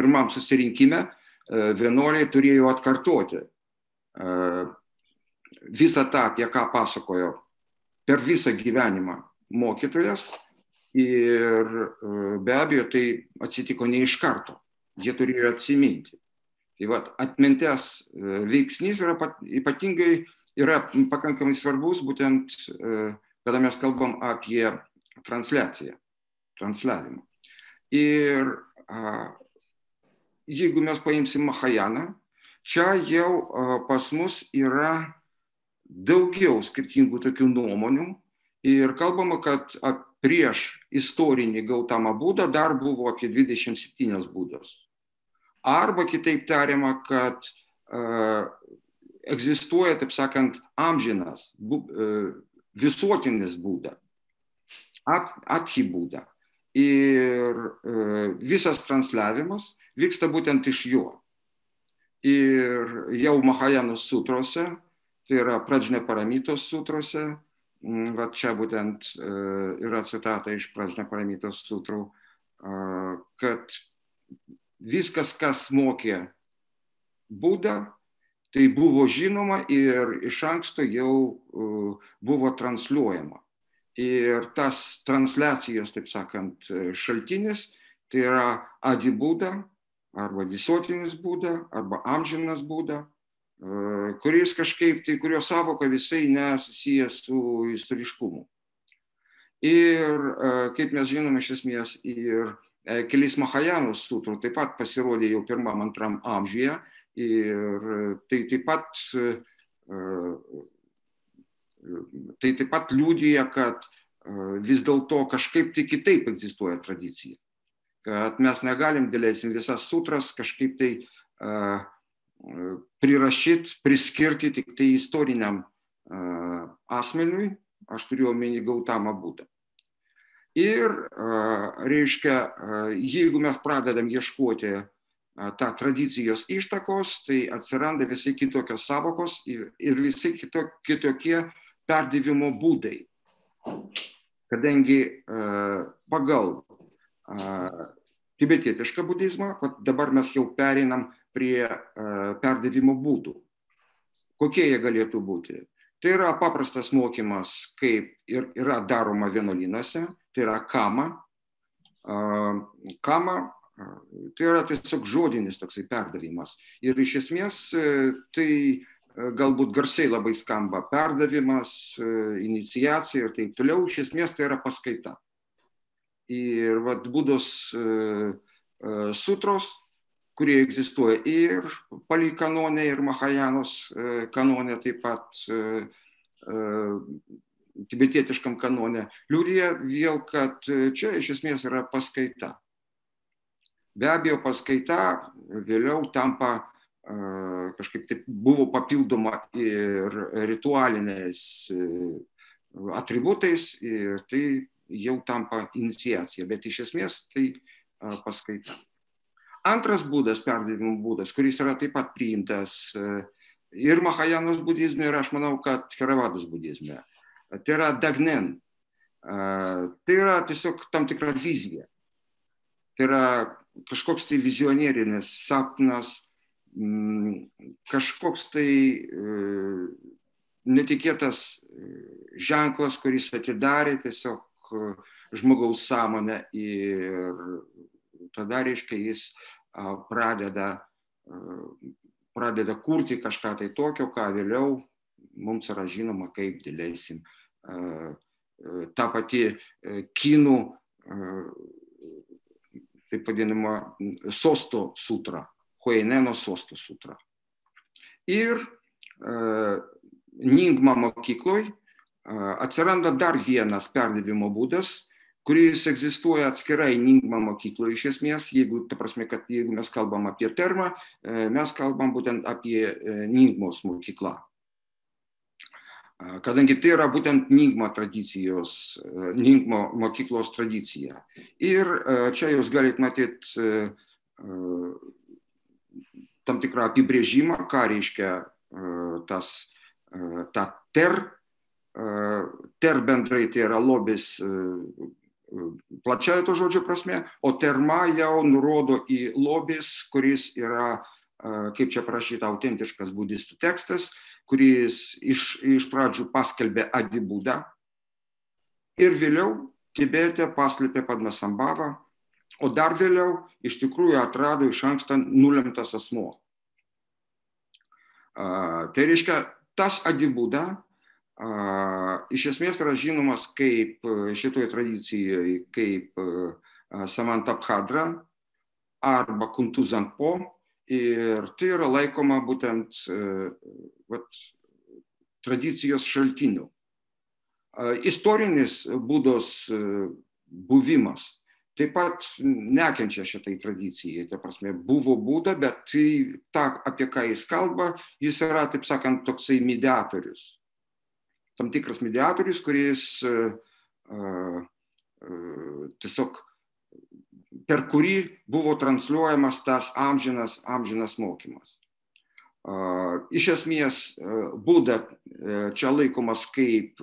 pirmam susirinkime vienuoliai turėjo atkartoti visą tą, apie ką pasakojo per visą gyvenimą mokytojas. Ir be abejo, tai atsitiko ne iš karto. Jie turėjo atsiminti. Tai vat, atminties veiksnys yra ypatingai, yra pakankamai svarbus, būtent, kada mes kalbam apie transliavimą. Ir jeigu mes paimsim Mahajaną, čia jau pas mus yra daugiau skirtingų tokių nuomonių ir kalbama, kad prieš istorinį Gautamą Budą dar buvo apie 27 būdos. Arba kitaip tariama, kad egzistuoja, taip sakant, amžinas, visuotinis Buda, Abhi Buda. Ir visas transliavimas vyksta būtent iš jo. Ir jau Mahajanos sutrose, tai yra Prajnaparamitos sutrose, va čia būtent yra citata iš Prajnaparamitos sutrų, kad viskas, kas mokė Budą, tai buvo žinoma ir iš anksto jau buvo transliuojama. Ir tas transliacijos, taip sakant, šaltinis, tai yra Adi Buda, arba visuotinis Buda, arba amžinas Buda, kuris kažkaip, tai kurio savoka visai nesusijęs su istoriškumu. Ir kaip mes žinome, iš esmės, ir kelis Mahajanos sutrų taip pat pasirodė jau 1-2 amžiuje, ir tai taip pat liudija, kad vis dėlto kažkaip tai kitaip egzistuoja tradicija. Kad mes negalim, dėlėsim visas sutras kažkaip tai prirašyti, priskirti tik tai istoriniam asmeniui, aš turiu omeny Gautamą Budą. Ir, reiškia, jeigu mes pradedam ieškoti tą tradicijos ištakos, tai atsiranda visai kitokios savokos ir visai kitokie perdavimo būdai. Kadangi pagal tibetietišką budizmą, dabar mes jau pereinam prie perdavimo būdų. Kokie jie galėtų būti? Tai yra paprastas mokymas, kaip ir yra daroma vienuolynuose, tai yra kama. Kama tai yra tiesiog žodinis toksai perdavimas. Ir iš esmės tai galbūt garsiai labai skamba perdavimas, iniciacija ir taip toliau. Iš esmės tai yra paskaita. Ir vat Budos sutros, kurie egzistuoja ir Pali kanone, ir Mahajanos kanone, taip pat tibetietiškam kanone, liudija vėl, kad čia iš esmės yra paskaita. Be abejo, paskaita vėliau tampa kažkaip taip buvo papildoma ir ritualiniais atributais, ir tai jau tampa iniciacija, bet iš esmės tai paskaita. Antras būdas, perdavimo būdas, kuris yra taip pat priimtas ir Mahajanos budizme, ir aš manau, kad Theravados budizme, tai yra dagnen. Tai yra tiesiog tam tikra vizija. Tai yra kažkoks tai vizionierinis sapnas, kažkoks tai netikėtas ženklas, kuris atidarė tiesiog žmogaus sąmonę, ir tada, reiškia, jis pradeda kurti kažką tai tokio, ką vėliau mums yra žinoma, kaip dėlėsim ta pati kinų, taip vadinama, Sosto sutra, Huaineno Sosto sutra. Ir Nyingma mokykloj atsiranda dar vienas perdavimo būdas, kuris egzistuoja atskirai Nyingma mokykloje iš esmės, ta prasme, kad jeigu mes kalbam apie termą, mes kalbam būtent apie Nyingmos mokyklą. Kadangi tai yra būtent Nyingma tradicijos, Nyingma mokyklos tradicija. Ir čia jūs galite matyti tam tikrą apibrėžimą, ką reiškia ta ter bendrai, tai yra lobis plačiai to žodžio prasme, o terma jau nurodo į lobis, kuris yra, kaip čia parašyta, autentiškas budistų tekstas, kuris iš pradžių paskelbė Adibudą ir vėliau Tibete paslėpė Padmasambhavą, o dar vėliau iš tikrųjų atrado iš anksto nulemtas asmuo. Tai reiškia, tas Adibuda iš esmės yra žinomas kaip šitoje tradicijoje kaip Samantabhadra arba Kuntu Zanpo, ir tai yra laikoma būtent tradicijos šaltiniu. Istorinis Budos buvimas taip pat nekenčia šitai tradicijai, ta prasme, buvo Buda, bet ta, apie ką jis kalba, jis yra, taip sakant, toksai mediatorius. Tam tikras mediatorius, kuris tiesiog per kurį buvo transliuojamas tas amžinas mokymas. Iš esmės, Buda čia laikomas kaip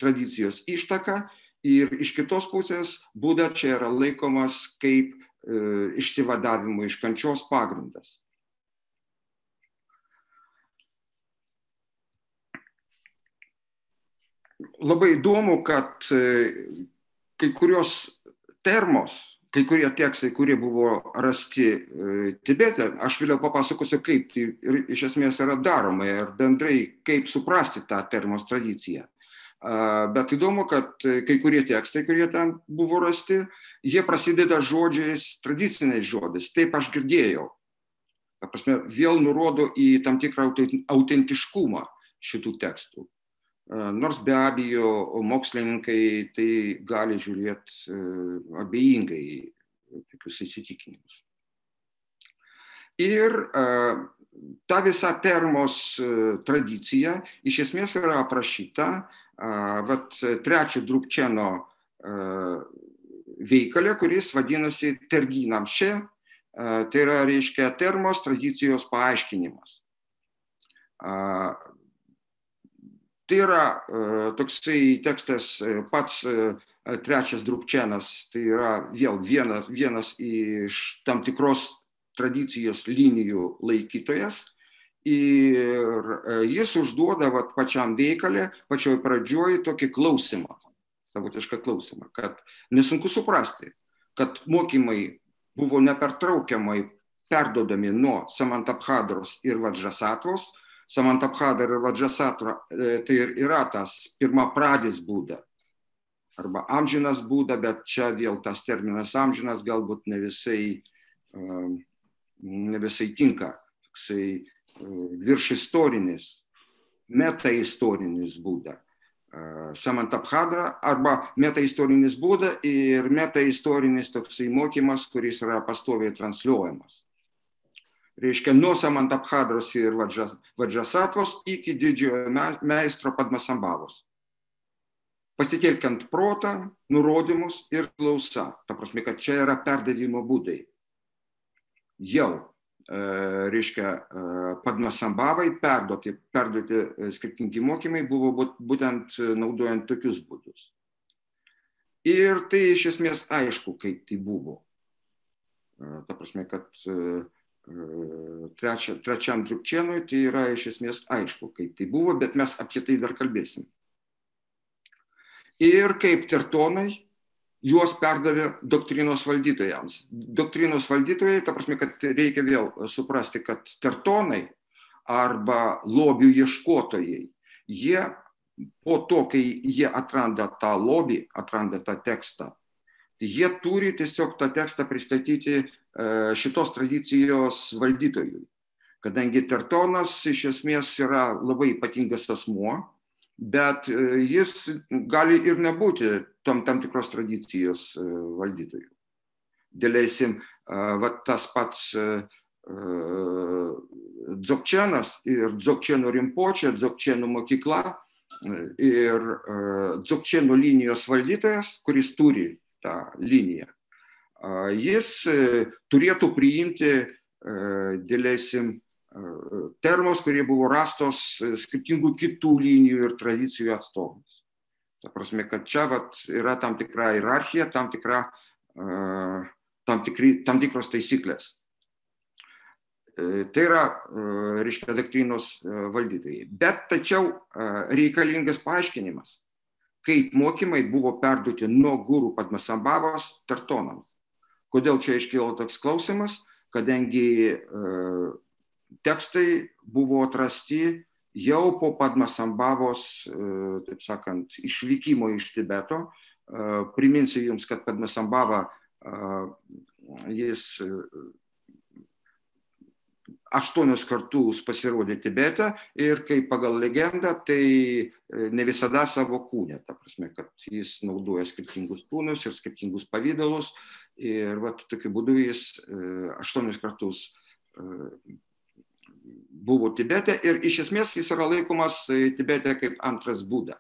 tradicijos ištaka ir iš kitos pusės Buda čia yra laikomas kaip išsivadavimo iš kančios pagrindas. Labai įdomu, kad kai kurios termos, kai kurie tekstai, kurie buvo rasti Tibete, aš vėliau papasakosiu, kaip tai iš esmės yra daroma ir bendrai kaip suprasti tą termos tradiciją. Bet įdomu, kad kai kurie tekstai, kurie ten buvo rasti, jie prasideda žodžiais, tradiciniais žodžiais, taip aš girdėjau. Ta prasme, vėl nurodo į tam tikrą autentiškumą šitų tekstų. Nors be abejo mokslininkai tai gali žiūrėti abejingai į tokius įsitikinimus. Ir ta visa termos tradicija iš esmės yra aprašyta trečio Drukčeno veikale, kuris vadinasi Terginam še, tai yra, reiškia, termos tradicijos paaiškinimas. Tai yra toksai tekstas, pats trečias Drukčenas, tai yra vėl vienas iš tam tikros tradicijos linijų laikytojas ir jis užduoda pačiam veikale, pačioj pradžioj tokį klausimą, savotišką klausimą, kad nesunku suprasti, kad mokymai buvo nepertraukiamai perduodami nuo Samantabhadros ir Vajrasatvos. Samantabhadra ir Vajrasattva tai yra tas pirmapradis Buda, arba amžinas Buda, bet čia vėl tas terminas amžinas galbūt ne visai tinka, toksai viršistorinis, metaistorinis Buda. Samantabhadra arba metaistorinis Buda ir metaistorinis toksai mokymas, kuris yra pastoviai transliuojamas. Reiškia, nuo Samantabhadros ir Vajrasatvos iki didžiojo meistro Padmasambhavos. Pasitelkiant protą, nurodymus ir klausa. Ta prasme, kad čia yra perdavimo būdai. Jau, reiškia, Padmasambhavai perduoti skirtingi mokymai buvo būtent naudojant tokius būdus. Ir tai iš esmės aišku, kaip tai buvo. Ta prasme, kad trečiam Drukčenui tai yra iš esmės aišku, kaip tai buvo, bet mes apie tai dar kalbėsim. Ir kaip tertonai juos perdavė doktrinos valdytojams. Doktrinos valdytojai, ta prasme, kad reikia vėl suprasti, kad tertonai arba lobių ieškotojai, jie po to, kai jie atranda tą lobį, atranda tą tekstą, jie turi tiesiog tą tekstą pristatyti šitos tradicijos valdytojui. Kadangi tertonas iš esmės yra labai ypatingas asmuo, bet jis gali ir nebūti tam tikros tradicijos valdytojų. Dėleisim, tas pats Dzogčenas ir Dzogčeno Rinpočė, Dzogčeno mokykla ir Dzogčeno linijos valdytojas, kuris turi tą liniją, jis turėtų priimti, dėleisim, termos, kurie buvo rastos skirtingų kitų linijų ir tradicijų atstovams. Ta prasme, kad čia yra tam tikra hierarchija, tam tikros taisyklės. Tai yra, reiškia, doktrinos valdytojai. Bet tačiau reikalingas paaiškinimas, kaip mokymai buvo perduoti nuo guru Padmasambhavos tartonams. Kodėl čia iškilo toks klausimas? Kadangi tekstai buvo atrasti jau po Padmasambhavos, taip sakant, išvykimo iš Tibeto. Priminsiu jums, kad Padmasambhava jis 8 kartus pasirodė Tibete ir kaip pagal legendą, tai ne visada savo kūne, ta prasme, kad jis naudoja skirtingus kūnus ir skirtingus pavydalus ir tokiu būdu jis 8 kartus buvo Tibete ir iš esmės jis yra laikomas Tibete kaip antras Buda.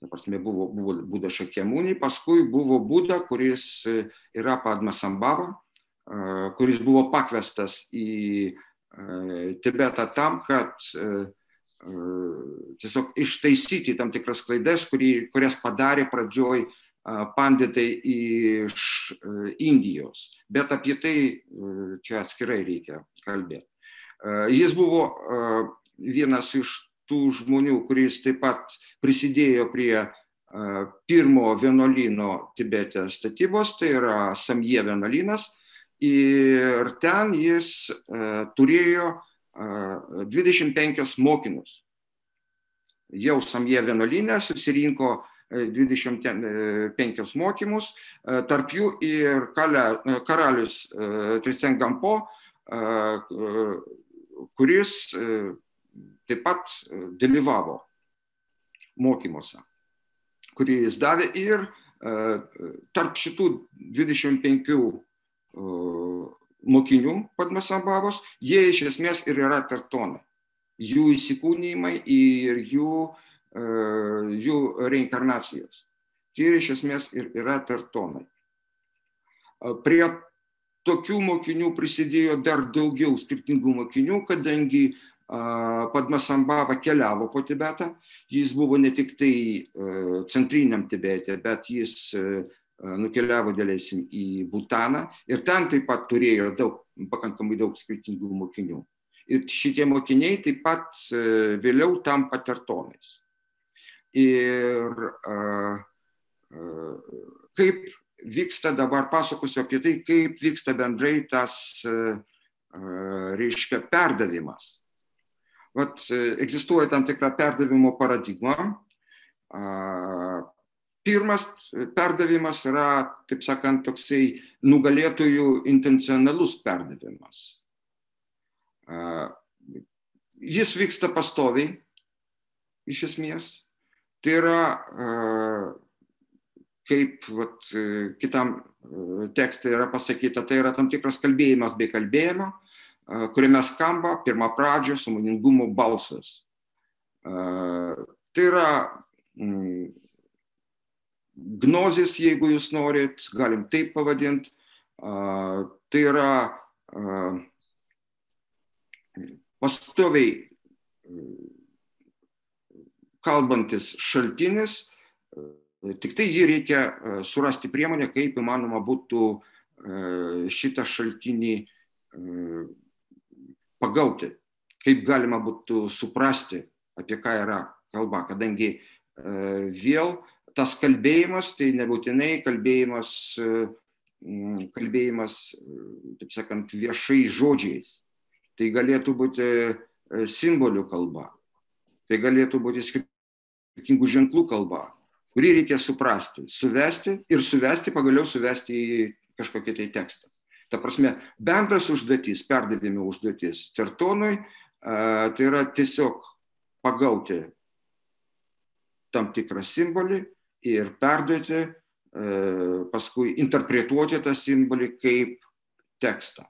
Ta prasme, buvo Buda Šakyamuni, paskui buvo Buda, kuris yra Padmasambhava, kuris buvo pakviestas į Tibetą tam, kad tiesiog ištaisyti tam tikras klaidas, kurias padarė pradžioj panditai iš Indijos. Bet apie tai čia atskirai reikia kalbėti. Jis buvo vienas iš tų žmonių, kuris taip pat prisidėjo prie pirmo vienuolyno Tibete statybos, tai yra Samje vienuolynas. Ir ten jis turėjo 25 mokinius. Jau Samje vienuolyne susirinko 25 mokymus, tarp jų ir karalius Trisengampo, kuris taip pat dalyvavo mokymuose, kurį jis davė. Ir tarp šitų 25 mokinių Padmasambhavos, jie iš esmės ir yra tartonai. Jų įsikūnijimai ir jų reinkarnacijos. Tai iš esmės ir yra tartonai. Prie tokių mokinių prisidėjo dar daugiau skirtingų mokinių, kadangi Padmasambhava keliavo po Tibetą. Jis buvo ne tik tai centriniam Tibete, bet jis nukeliavo dėlėsim į Butaną ir ten taip pat turėjo pakankamai daug skirtingų mokinių. Ir šitie mokiniai taip pat vėliau tampa tartonais. Ir kaip vyksta, dabar pasakosiu apie tai, kaip vyksta bendrai tas, reiškia, perdavimas. Egzistuoja tam tikra perdavimo paradigma. Pirmas perdavimas yra, taip sakant, toksai nugalėtojų intencionalus perdavimas. Jis vyksta pastoviai, iš esmės. Tai yra, kaip kitam tekste yra pasakyta, tai yra tam tikras kalbėjimas bei kalbėjimo, kuriame skamba pirmapradžio sąmoningumo balsas. Tai yra gnozis, jeigu jūs norit, galim taip pavadinti. Tai yra pastoviai kalbantis šaltinis, tik tai jį reikia surasti priemonę, kaip įmanoma būtų šitą šaltinį pagauti, kaip galima būtų suprasti, apie ką yra kalba, kadangi vėl tas kalbėjimas, tai nebūtinai kalbėjimas, taip sakant, viešai žodžiais. Tai galėtų būti simbolių kalba, tai galėtų būti skirtingų ženklų kalba, kurį reikia suprasti, suvesti, pagaliau suvesti į kažkokį tai tekstą. Ta prasme, bendras užduotis, perdavimo užduotis tartonui, tai yra tiesiog pagauti tam tikrą simbolį ir perduoti, paskui interpretuoti tą simbolį kaip tekstą.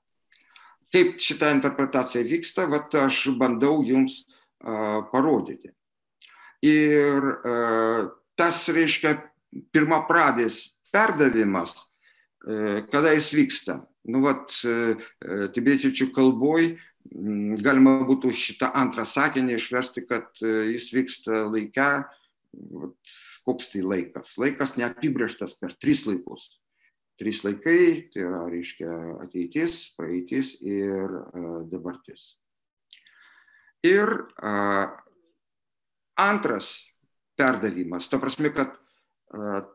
Kaip šita interpretacija vyksta, aš bandau jums parodyti. Ir tas, reiškia, pirmapradis perdavimas, kada jis vyksta. Tibetiečių kalboj galima būtų šitą antrą sakinį išversti, kad jis vyksta laike, koks tai laikas? Laikas neapibrėžtas per 3 laikus. 3 laikai, tai yra, reiškia, ateitis, praeitis ir dabartis. Ir antras perdavimas, ta prasme, kad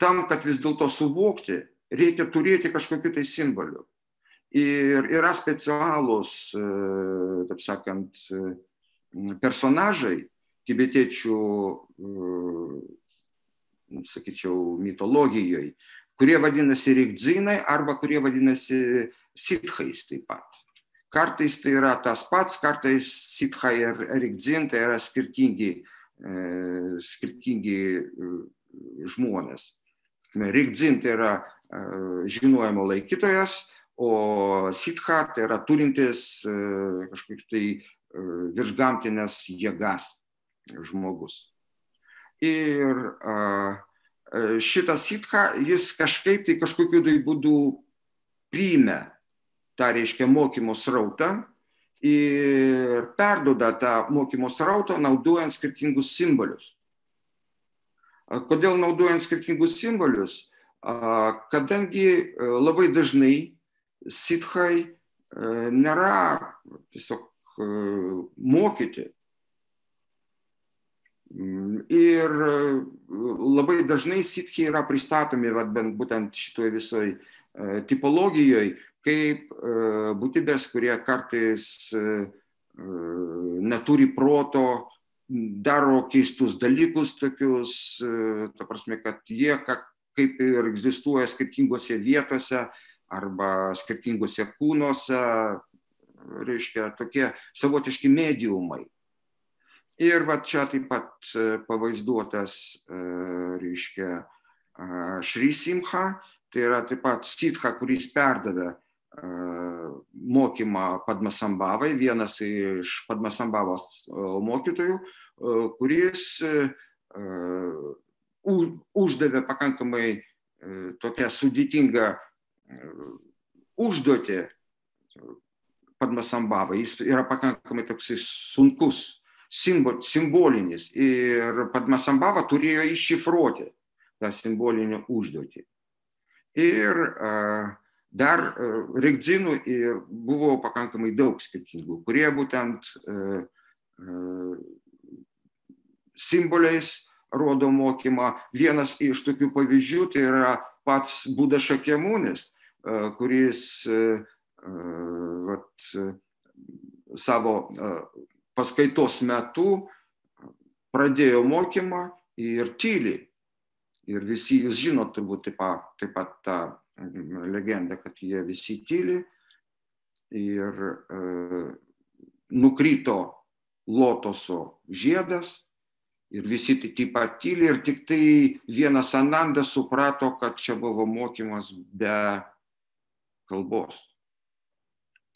tam, kad vis dėlto suvokti, reikia turėti kažkokių tai simbolių. Ir yra specialūs, taip sakant, personažai tibetiečių, sakyčiau, mitologijoje, kurie vadinasi rigdzinai arba kurie vadinasi sithais taip pat. Kartais tai yra tas pats, kartais sithai ir rigdzin tai yra skirtingi žmonės. Rigdzin tai yra žinojimo laikytojas, o sitha tai yra turintis kažkaip tai viršgamtinės jėgas žmogus. Ir šitas sitha, jis kažkaip tai kažkokiu tai būdu priėmė tą, reiškia, mokymo srautą ir perduoda tą mokymo srautą naudojant skirtingus simbolius. Kodėl naudojant skirtingus simbolius? Kadangi labai dažnai sithai nėra tiesiog mokyti. Ir labai dažnai sithiai yra pristatomi būtent šitoje visoje tipologijoje kaip būtybės, kurie kartais neturi proto, daro keistus dalykus tokius, ta prasme, kad jie kaip ir egzistuoja skirtingose vietose arba skirtingose kūnuose, reiškia, tokie savotiški mediumai. Ir va čia taip pat pavaizduotas, reiškia, Šri Simha, tai yra taip pat sitha, kuris perdavė mokymą Padmasambhavai, vienas iš Padmasambhavos mokytojų, kuris uždavė pakankamai tokią sudėtingą užduotį Padmasambhavai. Jis yra pakankamai toks sunkus, simbolinis, ir Padmasambhava turėjo iššifruoti tą simbolinę užduotį. Ir dar rigdzinų buvo pakankamai daug skirtingų, kurie būtent simboliais rodo mokymą. Vienas iš tokių pavyzdžių tai yra pats Buda Šakyamunis, kuris savo paskaitos metu pradėjo mokymą ir tyli. Ir visi jūs žinot turbūt taip pat tą legendą, kad jie visi tyli ir nukrito lotoso žiedas ir visi taip pat tyli ir tik tai vienas Ananda suprato, kad čia buvo mokymas be kalbos.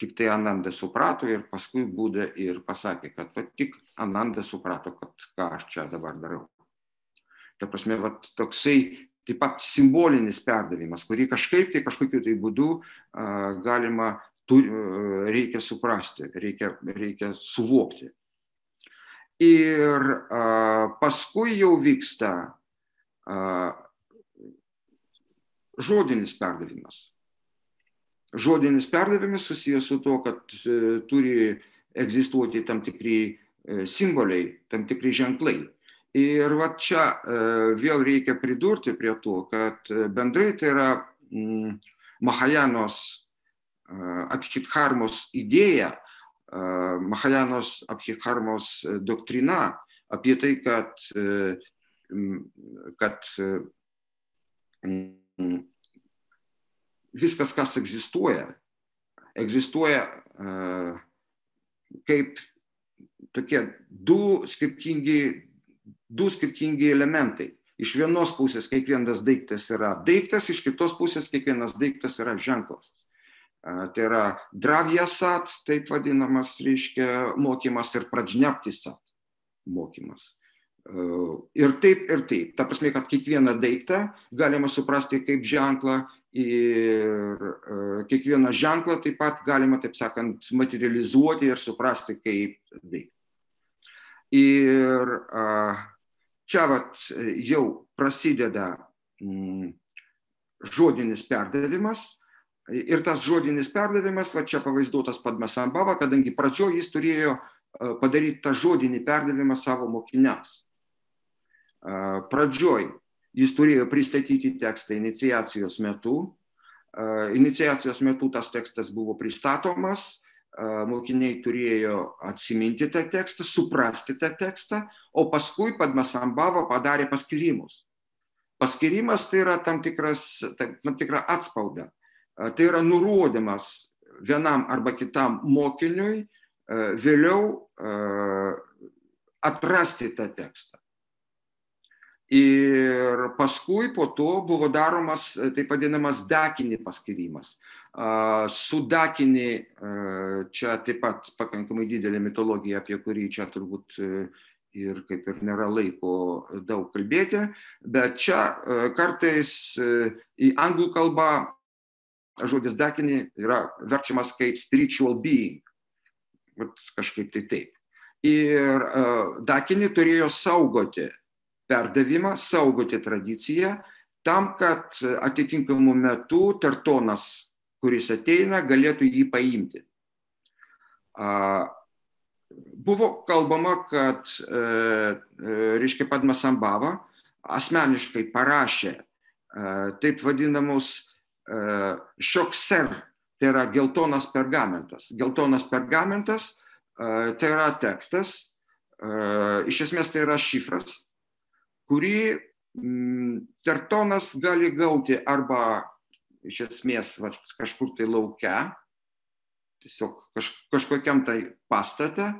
Tik tai Ananda suprato ir paskui Buda ir pasakė, kad tik Ananda suprato, kad ką aš čia dabar darau. Ta prasme, toksai taip pat simbolinis perdavimas, kurį kažkokiu tai būdu reikia suprasti, reikia suvokti. Ir paskui jau vyksta žodinis perdavimas. Žodinis perdavimas susijęs su to, kad turi egzistuoti tam tikri simboliai, tam tikri ženklai. Ir va čia vėl reikia pridurti prie to, kad bendrai tai yra Mahajanos Abhidharmos idėja, Mahajanos Abhidharmos doktrina apie tai, kad viskas, kas egzistuoja kaip tokie du skirtingi elementai. Iš vienos pusės kiekvienas daiktas yra daiktas, iš kitos pusės kiekvienas daiktas yra ženklas. Tai yra dravyasat, taip vadinamas, reiškia, mokymas, ir pradžneptisat mokymas. Ir taip, ir taip. Ta prasme, kad kiekvieną daiktą galima suprasti kaip ženklą ir kiekvieną ženklą taip pat galima, taip sakant, materializuoti ir suprasti kaip daiktą. Ir čia jau prasideda žodinis perdavimas. Ir tas žodinis perdavimas, čia pavaizduotas Padmasambhava, kadangi pradžioje jis turėjo padaryti tą žodinį perdavimą savo mokiniams. Pradžioje jis turėjo pristatyti tekstą iniciacijos metu. Iniciacijos metu tas tekstas buvo pristatomas, mokiniai turėjo atsiminti tą tekstą, suprasti tą tekstą, o paskui Padmasambhava padarė paskirimus. Paskirimas tai yra tam tikra atspauda. Tai yra nurodymas vienam arba kitam mokiniui vėliau atrasti tą tekstą. Ir paskui po to buvo daromas taip vadinamas dakini paskirimas. Su dakini čia taip pat pakankamai didelė mitologija, apie kurį čia turbūt ir kaip ir nėra laiko daug kalbėti, bet čia kartais į anglų kalbą žodis dakini yra verčiamas kaip spiritual being, kažkaip tai taip. Ir dakini turėjo saugoti perdavimą, saugoti tradiciją, tam, kad atitinkamu metu Tertonas, kuris ateina, galėtų jį paimti. Buvo kalbama, kad reiškia Padmasambhava asmeniškai parašė taip vadinamus šokser, tai yra geltonas pergamentas. Geltonas pergamentas tai yra tekstas, iš esmės tai yra šifras, kurį Tertonas gali gauti arba iš esmės kažkur tai lauke, tiesiog kažkokiam tai pastate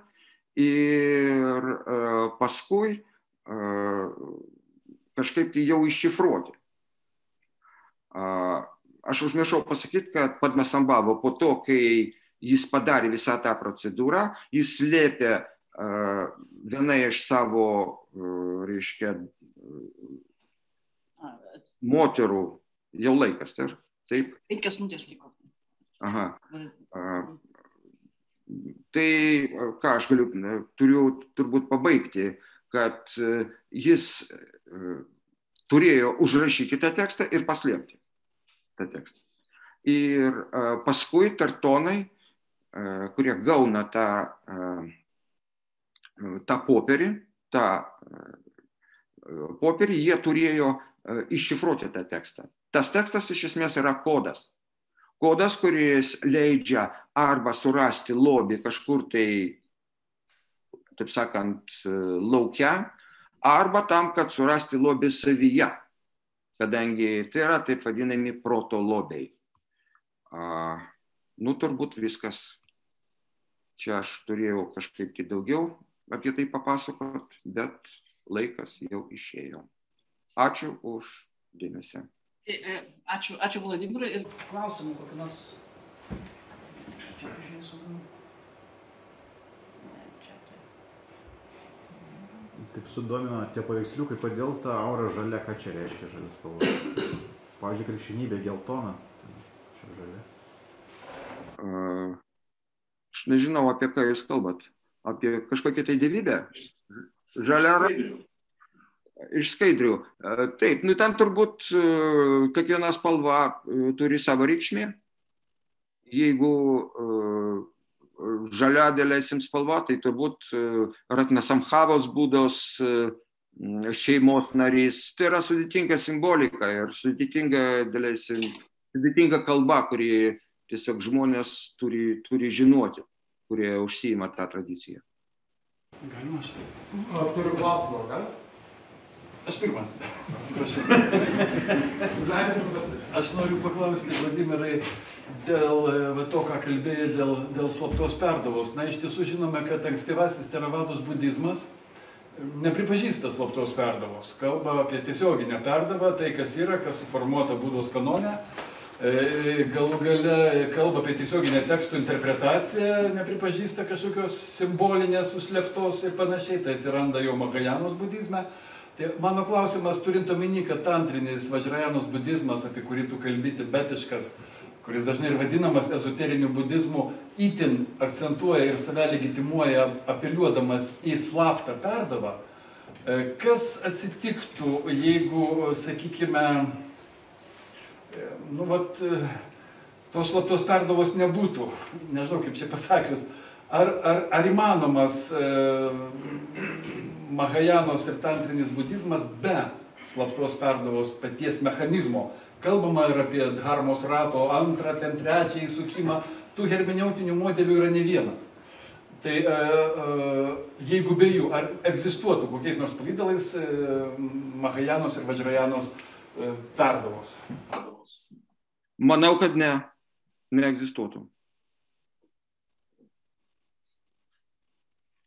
ir paskui kažkaip tai jau iššifruoti. Aš užmiršau pasakyti, kad Padmasambhava po to, kai jis padarė visą tą procedūrą, jis slėpė vieną iš savo, reiškia, moterų, jau laikas, taip? 5 minutės liko. Aha. Tai ką aš turiu turbūt pabaigti, kad jis turėjo užrašyti tą tekstą ir paslėpti tą tekstą. Ir paskui Tertonai, kurie gauna tą popierį, jie turėjo iššifruoti tą tekstą. Tas tekstas iš esmės yra kodas. Kodas, kuris leidžia arba surasti lobį kažkur tai, taip sakant, lauke, arba tam, kad surasti lobį savyje, kadangi tai yra taip vadinami proto lobiai. Turbūt viskas. Čia aš turėjau kažkaip tai daugiau apie tai papasakot, bet laikas jau išėjo. Ačiū už dėmesį. Ačiū Vladimirai ir klausimų kokį nors. Taip sudomino tie paveiksliukai, kodėl ta aura žalia, ką čia reiškia žalia spalva? Pavyzdžiui, krikščionybė geltona, čia žalia. Aš nežinau, apie ką jūs kalbat. Apie kažkokią tai dievybę? Žalia iš skaidrių. Taip, ten turbūt kiekviena spalva turi savo reikšmę. Jeigu žalia dėlėsim spalva, tai turbūt Ratnasamhavos būdos šeimos narys. Tai yra sudėtinga simbolika ir sudėtinga kalba, kuri tiesiog žmonės turi žinoti, kurie užsiima tą tradiciją. Galima aš? Turiu klausimą, gal? Aš pirmas. Aš noriu paklausti, Vladimirai, dėl to, ką kalbėjai, dėl slaptos perdavos. Na, iš tiesų žinome, kad ankstyvasis Teravados budizmas nepripažįsta slaptos perdavos. Kalba apie tiesioginę perdavą, tai kas yra, kas suformuota Budos kanone. Galų gale kalba apie tiesioginę tekstų interpretaciją, nepripažįsta kažkokios simbolinės, užslėptos ir panašiai, tai atsiranda jau Mahajanos budizme. Tai mano klausimas, turint omeny, kad tantrinis Vajrajanos budizmas, apie kurį tu kalbi, tibetiškas, kuris dažnai ir vadinamas ezoteriniu budizmu, itin akcentuoja ir save legitimuoja apeliuodamas į slaptą perdavą, Kas atsitiktų, jeigu, sakykime, nu, vat, tos slaptos perdavos nebūtų, nežinau kaip čia pasakius, ar įmanomas Mahajanos ir tantrinis budizmas be slaptos perdavos paties mechanizmo? Kalbama ir apie dharmos rato antrą, ten trečią įsukimą, tų hermeneutinių modelių yra ne vienas. Tai jeigu be jų, ar egzistuotų kokiais nors pavydalais Mahajanos ir Vajrajanos perdavos? Manau, kad neegzistuotų.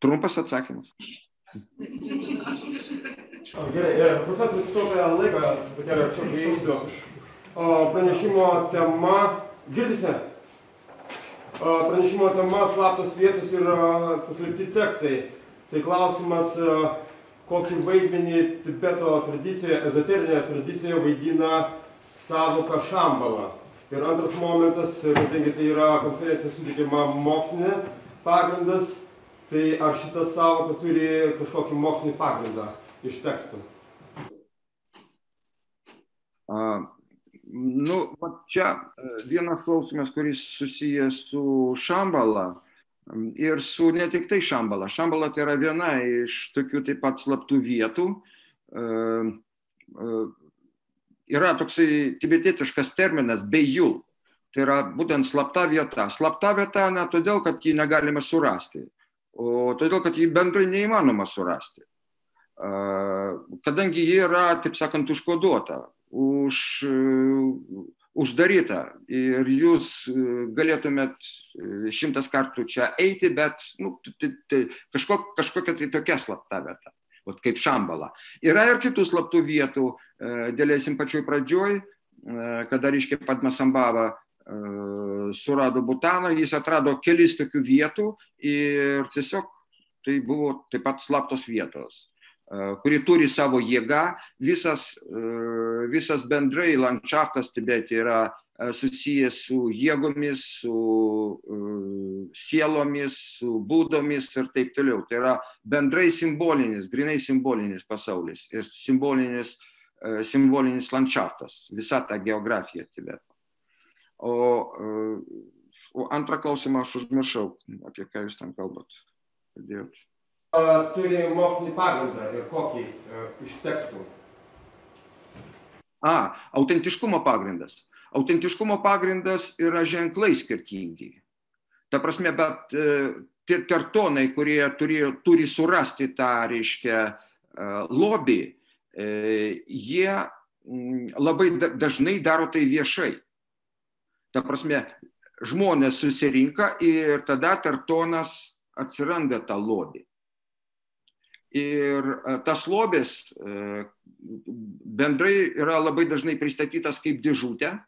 Trumpas atsakymas. Gerai, profesorius sutaupė laiką, bet yra čia prieisiu. Pranešimo tema, girdisi? Pranešimo tema slaptos vietos ir paslėpti tekstai. Tai klausimas, kokį vaidmenį Tibeto tradicijoje, ezoterinėje tradicijoje vaidina sąvoka Šambala. Ir antras momentas, kadangi tai yra konferencija suteikiama mokslinė pagrindas, tai ar šita sąvoka turi kažkokį mokslinį pagrindą iš tekstų? Nu, čia vienas klausimas, kuris susijęs su Šambala ir su ne tik tai Šambala. Šambala tai yra viena iš tokių taip pat slaptų vietų. Yra toksai tibetietiškas terminas beijul. Tai yra būtent slapta vieta. Slapta vieta ne todėl, kad jį negalime surasti, o todėl, kad jį bendrai neįmanoma surasti. Kadangi jį yra, taip sakant, užkoduota, uždaryta ir jūs galėtumėt 100 kartų čia eiti, bet kažkokia tai tokia slapta vieta, kaip Šambala. Yra ir kitų slaptų vietų, dėlėsim pačioj pradžioj, kada reiškia Padmasambhava surado Butaną, jis atrado kelis tokių vietų ir tiesiog tai buvo taip pat slaptos vietos, kuri turi savo jėgą. Visas bendrai landšaftas Tibete yra susijęs su jėgomis, su sielomis, su būdomis ir taip toliau. Tai yra bendrai simbolinis, grinai simbolinis pasaulis ir simbolinis landšaftas, visa ta geografija Tibeto. O antrą klausimą aš užmiršau, apie ką jūs ten kalbat. Turi mokslinį pagrindą ir kokį iš tekstų? Autentiškumo pagrindas. Autentiškumo pagrindas yra ženklai skirtingi. Ta prasme, bet tertonai, kurie turi surasti tą, reiškia, lobį, jie labai dažnai daro tai viešai. Ta prasme, žmonės susirinka ir tada tertonas atsiranda tą lobį. Ir tas lobis bendrai yra labai dažnai pristatytas kaip dėžutė.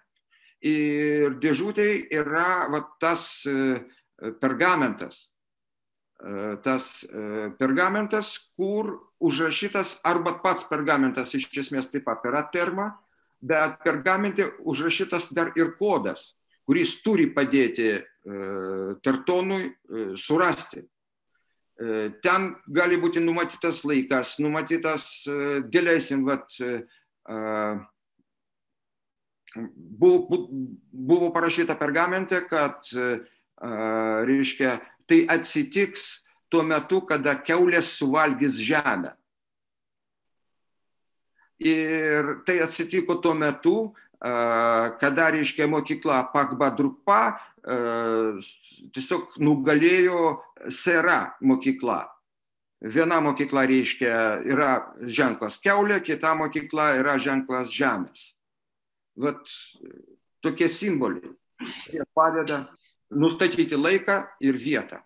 Ir dėžutė yra tas pergamentas. Tas pergamentas, kur užrašytas, arba pats pergamentas iš esmės taip pat yra terma, bet pergamente užrašytas dar ir kodas, kuris turi padėti tertonui surasti. Ten gali būti numatytas laikas, numatytas, dėlėsim, buvo parašyta pergamente, kad, reiškia, tai atsitiks tuo metu, kada kiaulės suvalgys žemę. Ir tai atsitiko tuo metu, kada, reiškia, mokykla Pakbadrukpa tiesiog nugalėjo Sera mokykla. Viena mokykla, reiškia, yra ženklas kiaulė, kita mokykla yra ženklas žemės. Vat tokie simboliai, kurie padeda nustatyti laiką ir vietą.